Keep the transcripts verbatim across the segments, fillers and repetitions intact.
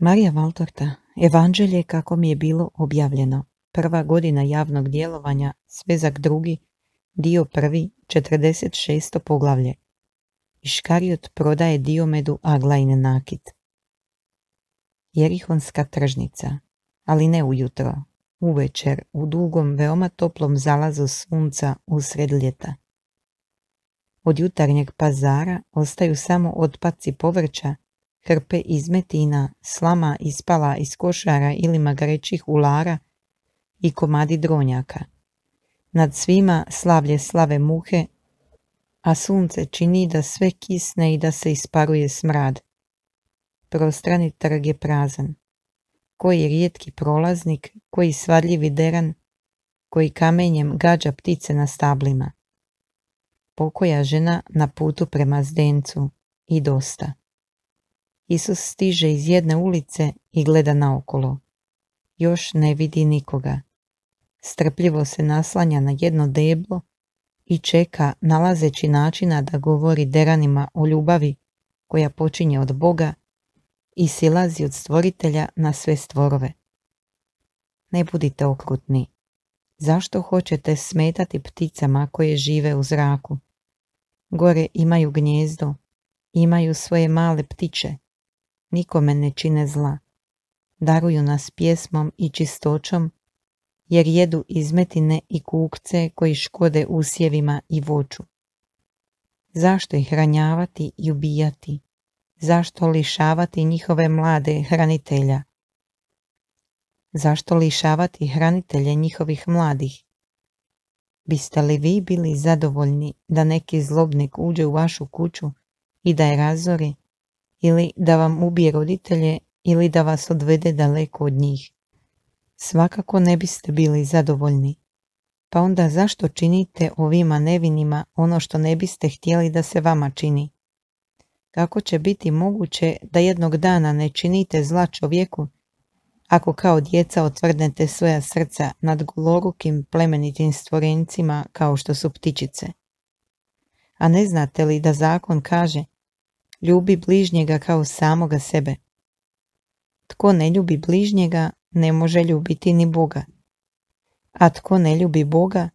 Marija Valtorta, Evanđelje kako mi je bilo objavljeno. Prva godina javnog djelovanja, svezak drugi, dio prvi, četrdeset šesto poglavlje. Iškarijot prodaje Diomedu Aglajin nakit. Jerihonska tržnica, ali ne ujutro, uvečer, u dugom, veoma toplom zalazu sunca usred ljeta. Od jutarnjeg pazara ostaju samo otpaci povrća, hrpe izmetina, slama ispala iz košara ili magarećih ulara i komadi dronjaka. Nad svima slavlje slave muhe, a sunce čini da sve kisne i da se isparuje smrad. Prostrani trg je prazan. Koji rijetki prolaznik, koji svadljivi deran, koji kamenjem gađa ptice na stablima. Pokoja žena na putu prema Zdencu i dosta. Isus stiže iz jedne ulice i gleda naokolo. Još ne vidi nikoga. Strpljivo se naslanja na jedno deblo i čeka, nalazeći načina da govori deranima o ljubavi koja počinje od Boga i silazi od Stvoritelja na sve stvorove. Ne budite okrutni. Zašto hoćete smetati pticama koje žive u zraku? Gore imaju gnjezdo, imaju svoje male ptiče. Nikome ne čine zla. Daruju nas pjesmom i čistoćom, jer jedu izmetine i kukce koji škode usjevima i voću. Zašto ih ranjavati i ubijati? Zašto lišavati njihove mlade hranitelja? Zašto lišavati hranitelje njihovih mladih? Biste li vi bili zadovoljni da neki zlobnik uđe u vašu kuću i da je razori, ili da vam ubije roditelje, ili da vas odvede daleko od njih? Svakako ne biste bili zadovoljni. Pa onda zašto činite ovima nevinima ono što ne biste htjeli da se vama čini? Kako će biti moguće da jednog dana ne činite zla čovjeku, ako kao djeca otvrdnete svoja srca nad golorukim plemenitim stvorencima kao što su ptičice? A ne znate li da zakon kaže: ljubi bližnjega kao samoga sebe? Tko ne ljubi bližnjega, ne može ljubiti ni Boga. A tko ne ljubi Boga,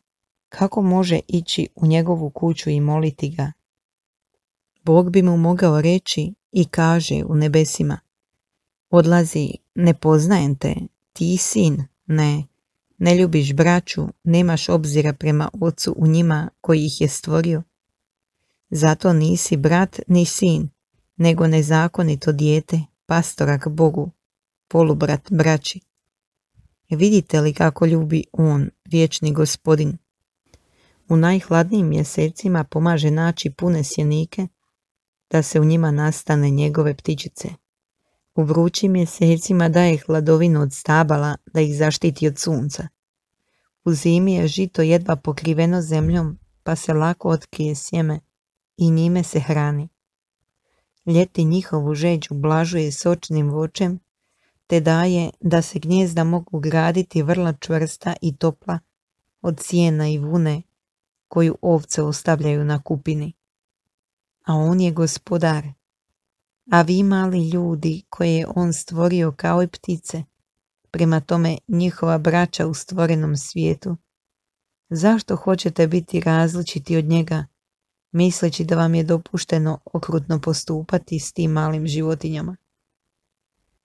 kako može ići u njegovu kuću i moliti ga? Bog bi mu mogao reći i kaže u nebesima: odlazi, ne poznajem te, ti sin, ne, ne ljubiš braću, nemaš obzira prema ocu u njima koji ih je stvorio. Zato nisi brat ni sin, nego nezakonito dijete, pastorak Bogu, polubrat braći. Vidite li kako ljubi on, vječni Gospodin? U najhladnijim mjesecima pomaže naći pune sjenike, da se u njima nastane njegove ptičice. U vrućim mjesecima daje hladovinu od stabala da ih zaštiti od sunca. U zimi je žito jedva pokriveno zemljom, pa se lako otkrije sjeme i njime se hrani. Ljeti njihovu žeđ ublažuje sočnim voćem, te daje da se gnjezda mogu graditi vrlo čvrsta i topla od sjena i vune koju ovce ostavljaju na kupini. A on je Gospodar, a vi mali ljudi koje je on stvorio kao i ptice, prema tome njihova braća u stvorenom svijetu. Zašto hoćete biti različiti od njega, misleći da vam je dopušteno okrutno postupati s tim malim životinjama?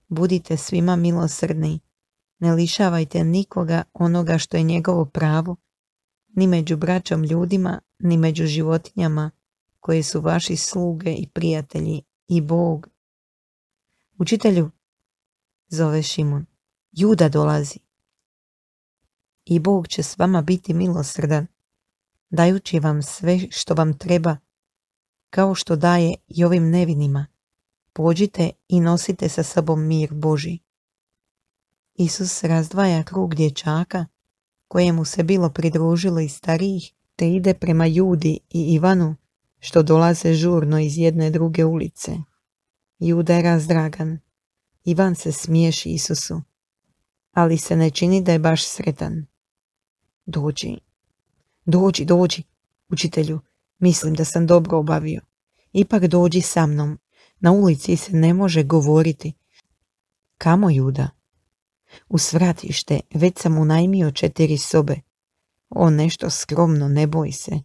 Budite svima milosrdni, ne lišavajte nikoga onoga što je njegovo pravo, ni među braćom ljudima, ni među životinjama koje su vaši sluge i prijatelji i Bog. Učitelju, zove Šimon, Juda dolazi. I Bog će s vama biti milosrdan, dajući vam sve što vam treba, kao što daje i ovim nevinima. Pođite i nosite sa sobom mir Božji. Isus razdvaja krug dječaka, kojemu se bilo pridružilo i starijih, te ide prema Judi i Ivanu, što dolaze žurno iz jedne druge ulice. Juda je razdragan. Ivan se smiješi Isusu, ali se ne čini da je baš sretan. Dođi, dođi, dođi, učitelju, mislim da sam dobro obavio. Ipak dođi sa mnom. Na ulici se ne može govoriti. Kamo, Juda? U svratište, već sam unajmio četiri sobe. O, nešto skromno, ne boj se.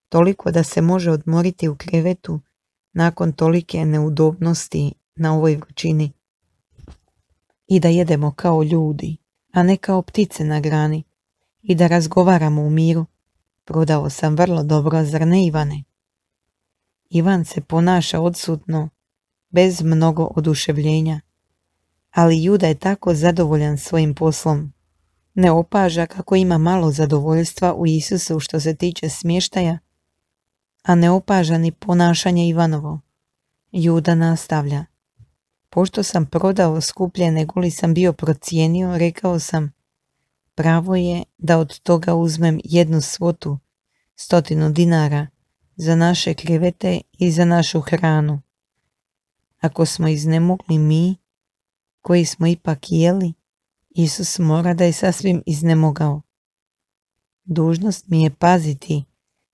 Toliko da se može odmoriti u krevetu nakon tolike neudobnosti na ovoj vrućini. I da jedemo kao ljudi, a ne kao ptice na grani. I da razgovaramo u miru. Prodao sam vrlo dobro, zar ne, Ivane? Ivan se ponaša odsutno, bez mnogo oduševljenja. Ali Juda je tako zadovoljan svojim poslom. Ne opaža kako ima malo zadovoljstva u Isusu što se tiče smještaja, a ne opaža ni ponašanje Ivanovo. Juda nastavlja. Pošto sam prodao skuplje nego li sam bio procijenio, rekao sam, pravo je da od toga uzmem jednu svotu, stotinu dinara, za naše krevete i za našu hranu. Ako smo iznemogli mi, koji smo ipak jeli, Isus mora da je sasvim iznemogao. Dužnost mi je paziti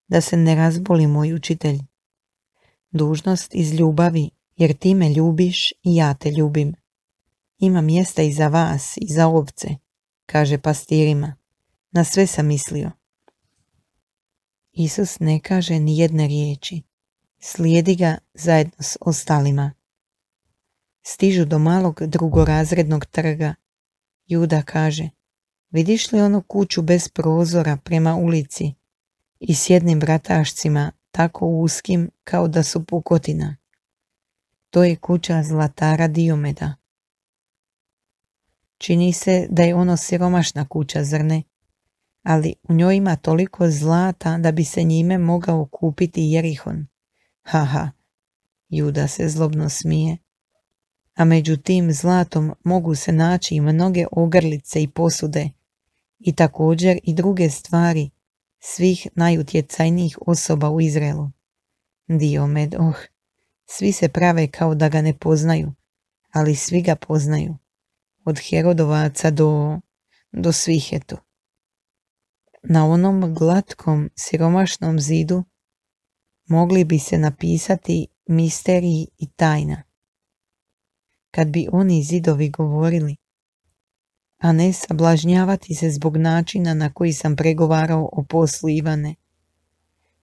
da se ne razboli moj učitelj. Dužnost iz ljubavi, jer ti me ljubiš i ja te ljubim. Ima mjesta i za vas i za ovce, kaže pastirima. Na sve sam mislio. Isus ne kaže ni jedne riječi. Slijedi ga zajedno s ostalima. Stižu do malog drugorazrednog trga. Juda kaže, vidiš li onu kuću bez prozora prema ulici i s jednim vratašcima tako uskim kao da su pukotina? To je kuća zlatara Diomeda. Čini se da je ono siromašna kuća, zar ne? Ali u njoj ima toliko zlata da bi se njime mogao kupiti Jerihon. Haha, Juda se zlobno smije. A među tim zlatom mogu se naći i mnoge ogrlice i posude i također i druge stvari svih najutjecajnijih osoba u Izraelu. Diomed, oh, svi se prave kao da ga ne poznaju, ali svi ga poznaju. Od Herodovaca do, do svih eto. Na onom glatkom, siromašnom zidu mogli bi se napisati misteriji i tajna. Kad bi oni zidovi govorili, a ne sablažnjavati se zbog načina na koji sam pregovarao o poslu, Ivane.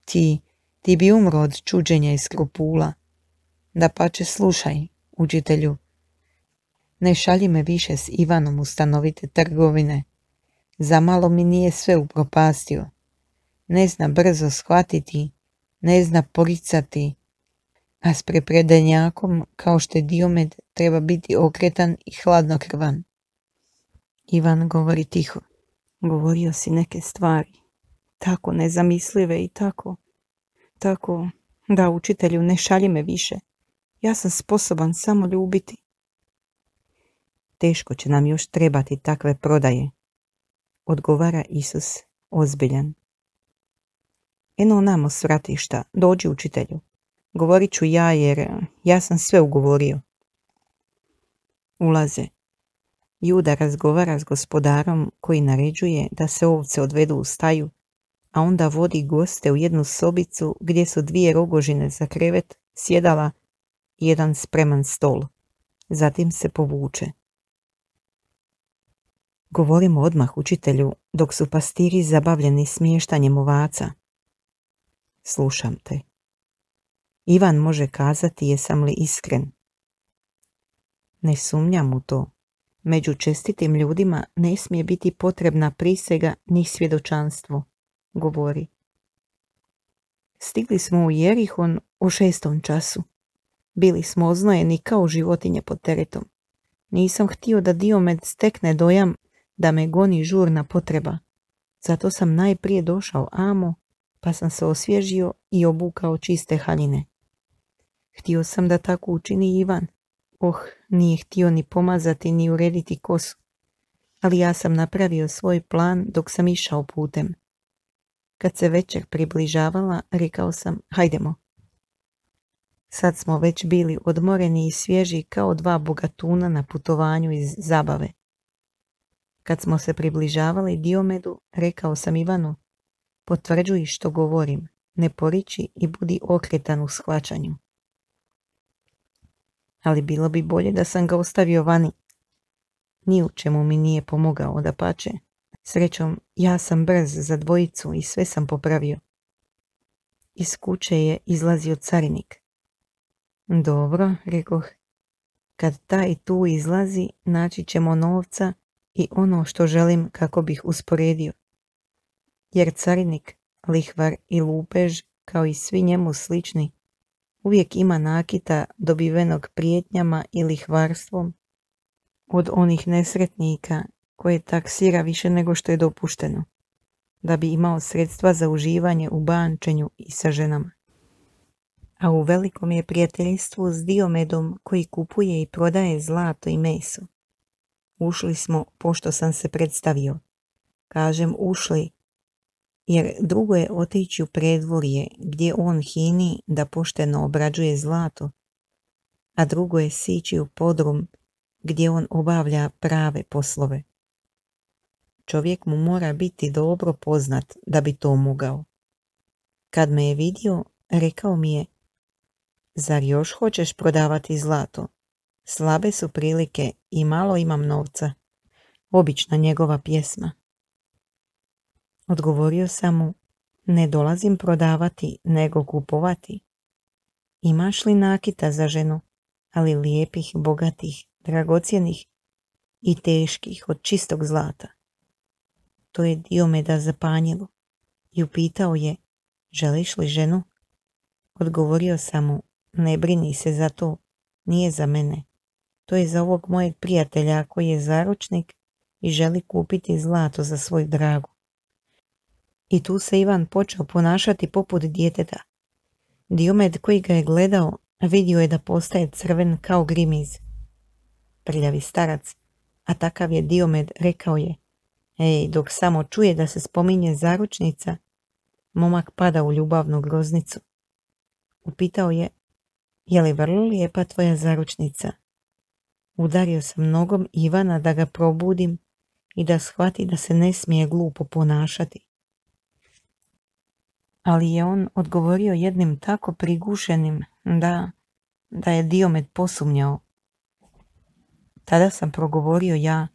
Ti, ti bi umro od čuđenja i skrupula. Dapače, slušaj, učitelju, ne šalji me više s Ivanom u stanovite trgovine. Zamalo mi nije sve upropastio. Ne zna brzo shvatiti, ne zna poricati, a s prepredenjakom, kao što je Diomed, treba biti okretan i hladnokrvan. Ivan govori tiho. Govorio si neke stvari, tako nezamislive i tako, tako, da, učitelju, ne šalji me više. Ja sam sposoban samo ljubiti. Teško će nam još trebati takve prodaje, odgovara Isus ozbiljan. Eno namo s vratišta, dođi, učitelju. Govorit ću ja jer ja sam sve ugovorio. Ulaze. Juda razgovara s gospodarom koji naređuje da se ovce odvedu u staju, a onda vodi goste u jednu sobicu gdje su dvije rogožine za krevet, sjedala i jedan spreman stol. Zatim se povuče. Govorimo odmah, učitelju, dok su pastiri zabavljeni smještanjem ovaca. Slušam te. Ivan može kazati jesam li iskren. Ne sumnjam u to. Među čestitim ljudima ne smije biti potrebna prisega ni svjedočanstvo, govori. Stigli smo u Jerihon u šestom času. Bili smo oznojeni kao životinje pod teretom. Nisam htio da Diomed stekne dojam da me goni žurna potreba. Zato sam najprije došao amo, pa sam se osvježio i obukao čiste haljine. Htio sam da tako učini Ivan. Oh, nije htio ni pomazati ni urediti kosu. Ali ja sam napravio svoj plan dok sam išao putem. Kad se večer približavala, rekao sam, hajdemo. Sad smo već bili odmoreni i svježi kao dva bogatuna na putovanju iz zabave. Kad smo se približavali Diomedu, rekao sam Ivanu, potvrđuj što govorim, ne poriči i budi okretan u shvaćanju. Ali bilo bi bolje da sam ga ostavio vani. Ni u čemu mi nije pomogao, dapače. Srećom, ja sam brz za dvojicu i sve sam popravio. Iz kuće je izlazio carinik. Dobro, rekoh, kad taj tu izlazi, naći ćemo novca i ono što želim kako bih usporedio. Jer carinik, lihvar i lupež, kao i svi njemu slični, uvijek ima nakita dobivenog prijetnjama i lihvarstvom od onih nesretnika koje taksira više nego što je dopušteno, da bi imao sredstva za uživanje u bančenju i sa ženama. A u velikom je prijateljstvu s Diomedom koji kupuje i prodaje zlato i meso. Ušli smo pošto sam se predstavio. Kažem ušli, jer drugo je otići u predvorje gdje on hini da pošteno obrađuje zlato, a drugo je sići u podrum gdje on obavlja prave poslove. Čovjek mu mora biti dobro poznat da bi to mogao. Kad me je vidio, rekao mi je: zar još hoćeš prodavati zlato? Slabe su prilike i malo imam novca. Obična njegova pjesma. Odgovorio sam mu: ne dolazim prodavati, nego kupovati. Imaš li nakita za ženu, ali lijepih, bogatih, dragocjenih i teških od čistog zlata? To je Diomeda zapanjilo i upitao je: želiš li ženu? Odgovorio sam mu: ne brini se za to, nije za mene. To je za ovog mojeg prijatelja koji je zaručnik i želi kupiti zlato za svoju dragu. I tu se Ivan počeo ponašati poput djeteta. Diomed koji ga je gledao vidio je da postaje crven kao grimiz. Prljavi starac, a takav je Diomed, rekao je: ej, dok samo čuje da se spominje zaručnica, momak pada u ljubavnu groznicu. Upitao je: je li vrlo lijepa tvoja zaručnica? Udario sam nogom Ivana da ga probudim i da shvati da se ne smije glupo ponašati. Ali je on odgovorio jednim tako prigušenim da, da je Diomed posumnjao. Tada sam progovorio ja: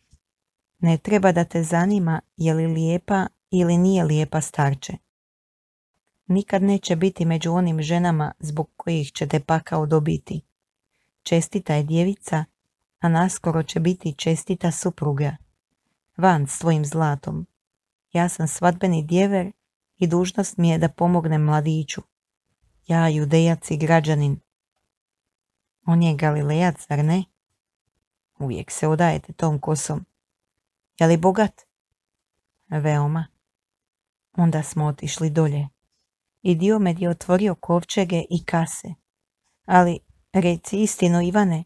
ne treba da te zanima je li lijepa ili nije lijepa, starče. Nikad neće biti među onim ženama zbog kojih ćete pakao dobiti. Čestita je djevica, a naskoro će biti čestita supruga. Van s tvojim zlatom. Ja sam svadbeni djever i dužnost mi je da pomognem mladiću. Ja, judejac i građanin. On je Galilejac, zar ne? Uvijek se odajete tom kosom. Je li bogat? Veoma. Onda smo otišli dolje. I Diomed je otvorio kovčege i kase. Ali, reci istinu, Ivane,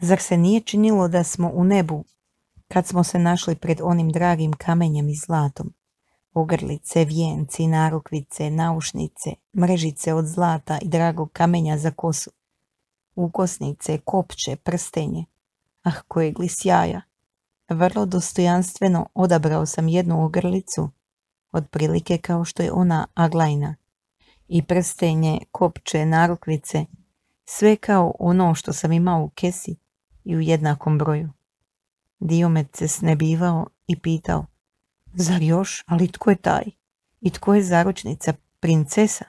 zar se nije činilo da smo u nebu kad smo se našli pred onim dragim kamenjem i zlatom? Ogrlice, vijenci, narukvice, naušnice, mrežice od zlata i dragog kamenja za kosu, ukosnice, kopče, prstenje. Ah, kojeg li sjaja! Vrlo dostojanstveno odabrao sam jednu ogrlicu, otprilike kao što je ona Aglajna, i prstenje, kopče, narukvice, sve kao ono što sam imao u kesi i u jednakom broju. Diomed se snebivao i pitao: zar još, ali tko je taj? I tko je zaručnica, princesa?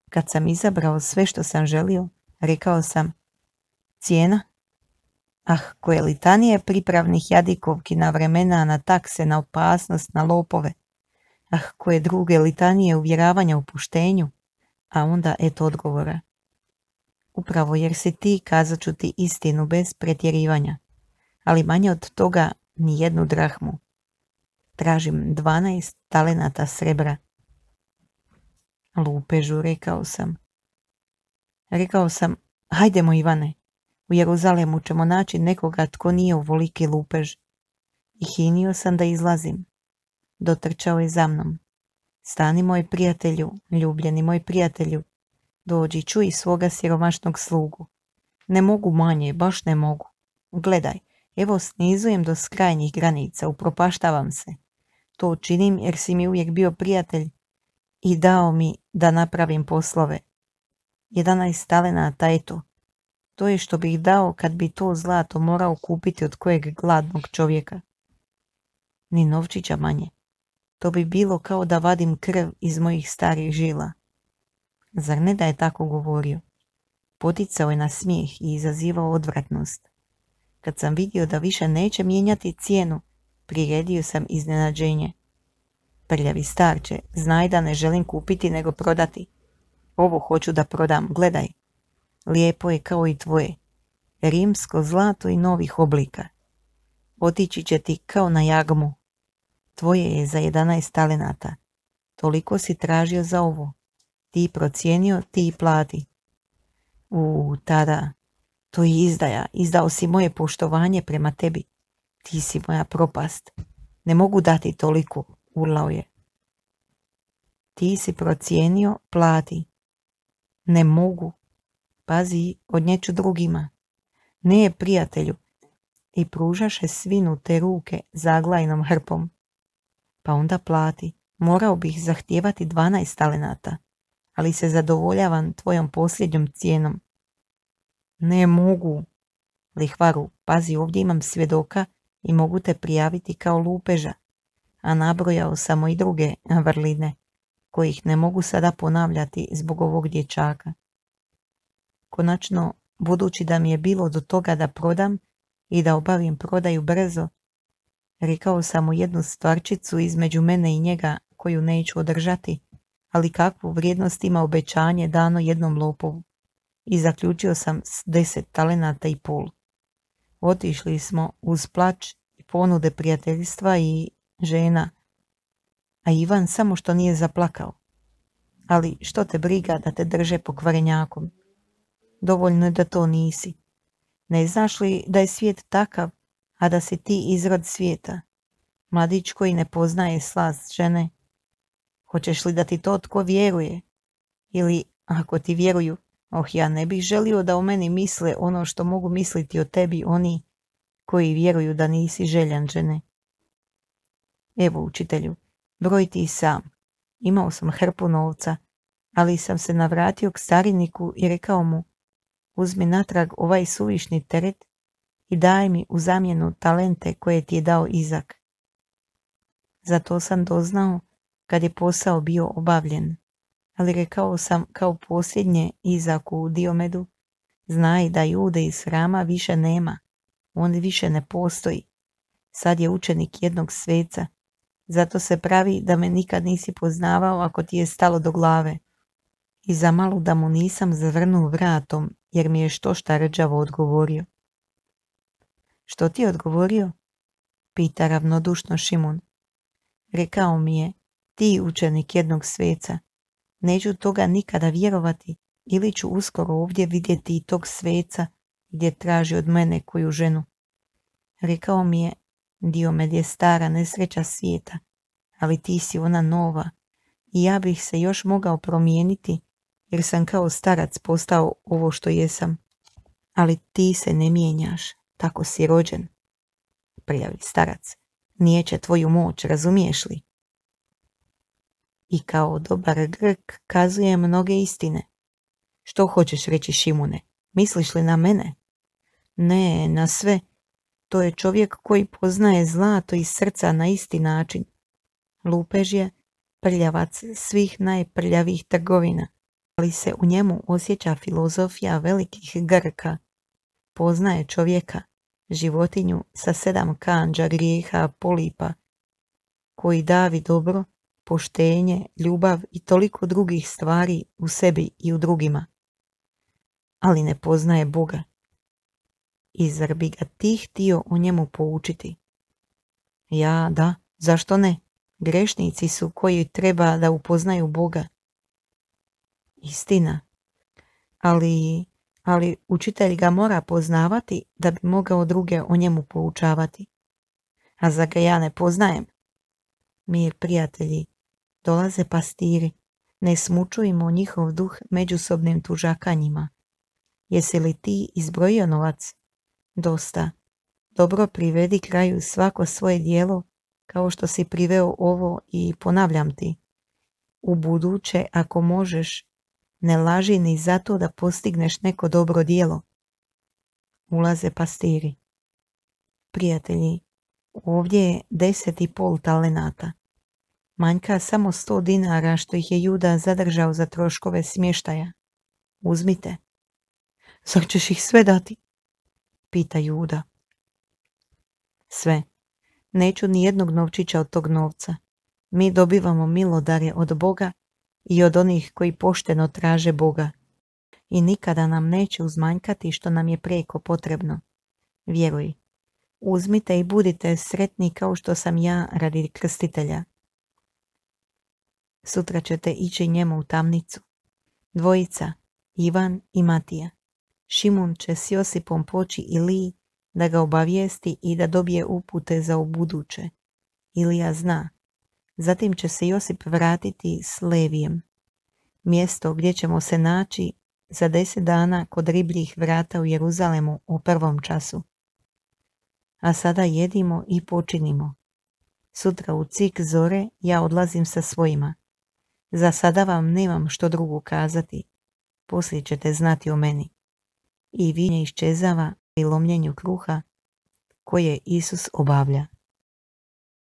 Kad sam izabrao sve što sam želio, rekao sam: cijena? Ah, koje litanije pripravnih jadikovki na vremena, na takse, na opasnost, na lopove. Ah, koje druge litanije uvjeravanja u puštenju. A onda eto odgovora: upravo jer si ti, kazat ću ti istinu bez pretjerivanja, ali manje od toga ni jednu drahmu. Tražim dvanaest talenata srebra. Lupežu, rekao sam. Rekao sam: hajdemo, Ivane, u Jeruzalemu ćemo naći nekoga tko nije ovoliki lupež. I hinio sam da izlazim. Dotrčao je za mnom. Stani, moj prijatelju, ljubljeni moj prijatelju, dođi, čuj svoga siromašnog slugu. Ne mogu manje, baš ne mogu. Gledaj, evo snizujem do skrajnjih granica, upropaštavam se. To činim jer si mi uvijek bio prijatelj i dao mi da napravim poslove. Jedanaest talenata, eto. To je što bih dao kad bi to zlato morao kupiti od kojeg gladnog čovjeka. Ni novčića manje. To bi bilo kao da vadim krv iz mojih starih žila. Zar ne da je tako govorio? Poticao je na smijeh i izazivao odvratnost. Kad sam vidio da više neće mijenjati cijenu, priredio sam iznenađenje. Prljavi starče, znaj da ne želim kupiti nego prodati. Ovo hoću da prodam, gledaj. Lijepo je kao i tvoje. Rimsko zlato i novih oblika. Otići će ti kao na jagmu. Tvoje je za jedanaest talenata. Toliko si tražio za ovo. Ti procijenio, ti plati. U, tada, to je izdaja. Izdao si moje poštovanje prema tebi. Ti si moja propast. Ne mogu dati toliko, urlao je. Ti si procijenio, plati. Ne mogu. Pazi, odnjeću drugima. Ne, prijatelju. I pružaše svinu te ruke zaglajnom hrpom. Pa onda plati. Morao bih zahtijevati dvanaest talenata, ali se zadovoljavam tvojom posljednjom cijenom. Ne mogu. Lihvaru, pazi, ovdje imam svjedoka i mogu te prijaviti kao lupeža, a nabrojao samo i druge vrline, kojih ne mogu sada ponavljati zbog ovog dječaka. Konačno, budući da mi je bilo do toga da prodam i da obavim prodaju brzo, rekao sam mu jednu stvarčicu između mene i njega koju neću održati, ali kakvu vrijednost ima obećanje dano jednom lopovu, i zaključio sam s deset talenata i pol. Otišli smo uz plač i ponude prijateljstva i žena, a Ivan samo što nije zaplakao. Ali što te briga da te drže pokvarenjakom? Dovoljno je da to nisi. Ne znaš li da je svijet takav, a da si ti izrod svijeta? Mladić koji ne poznaje slast žene. Hoćeš li da ti to tko vjeruje? Ili, ako ti vjeruju, oh, ja ne bih želio da o meni misle ono što mogu misliti o tebi oni koji vjeruju da nisi željan žene. Evo, učitelju, broj ti sam. Imao sam hrpu novca, ali sam se navratio k stariniku i rekao mu, uzmi natrag ovaj suvišni teret i daj mi u zamjenu talente koje ti je dao Izak. Za to sam doznao kad je posao bio obavljen, ali rekao sam kao posljednje Izaku Diomedu, znaj da Jude iz hrama više nema, on više ne postoji. Sad je učenik jednog sveca, zato se pravi da me nikad nisi poznavao ako ti je stalo do glave. I zamalo da mu nisam zavrnuo vratom, jer mi je štošta rđavo odgovorio. Što ti je odgovorio? Pita ravnodušno Šimun. Rekao mi je, ti učenik jednog sveca, neću toga nikada vjerovati, ili ću uskoro ovdje vidjeti i tog sveca gdje traži od mene koju ženu. Rekao mi je, Diomed je stara nesreća svijeta, ali ti si ona nova i ja bih se još mogao promijeniti jer sam kao starac postao ovo što jesam. Ali ti se ne mijenjaš, tako si rođen. Prljavi starac, nijeće tvoju moć, razumiješ li? I kao dobar Grk kazuje mnoge istine. Što hoćeš reći, Šimune? Misliš li na mene? Ne, na sve. To je čovjek koji poznaje zlato iz srca na isti način. Lupež je prljavac svih najprljavih trgovina, ali se u njemu osjeća filozofija velikih Grka. Poznaje čovjeka, životinju sa sedam kandža grijeha polipa, koji davi dobro, poštenje, ljubav i toliko drugih stvari u sebi i u drugima. Ali ne poznaje Boga. I zar bi ga ti htio o njemu poučiti? Ja, da, zašto ne? Grešnici su koji treba da upoznaju Boga. Istina. Ali, ali učitelj ga mora poznavati da bi mogao druge o njemu poučavati. A zar ga ja ne poznajem? Mir, prijatelji, dolaze pastiri, ne smučujmo njihov duh međusobnim tužakanjima. Jesi li ti izbrojio novac? Dosta. Dobro privedi kraju svako svoje djelo, kao što si priveo ovo i ponavljam ti. U buduće, ako možeš, ne laži ni zato da postigneš neko dobro djelo. ulaze pastiri. Prijatelji, ovdje je deset i pol talenata. Manjka samo sto dinara što ih je Juda zadržao za troškove smještaja. Uzmite. Zar ćeš ih sve dati? Pita Juda. Sve. Neću ni jednog novčića od tog novca. Mi dobivamo milodarje od Boga i od onih koji pošteno traže Boga. I nikada nam neće uzmanjkati što nam je prijeko potrebno. Vjeruj. Uzmite i budite sretni kao što sam ja radi krstitelja. Sutra ćete ići njemu u tamnicu. Dvojica, Ivan i Matija. Šimun će s Josipom poći Iliji da ga obavijesti i da dobije upute za ubuduće. Ilija zna. Zatim će se Josip vratiti s Levijem. Mjesto gdje ćemo se naći za deset dana kod ribljih vrata u Jeruzalemu u prvom času. A sada jedimo i počinimo. Sutra u cik zore ja odlazim sa svojima. Za sada vam nemam što drugo kazati. Poslije ćete znati o meni. I vinje iščezava pri lomljenju kruha koje Isus obavlja.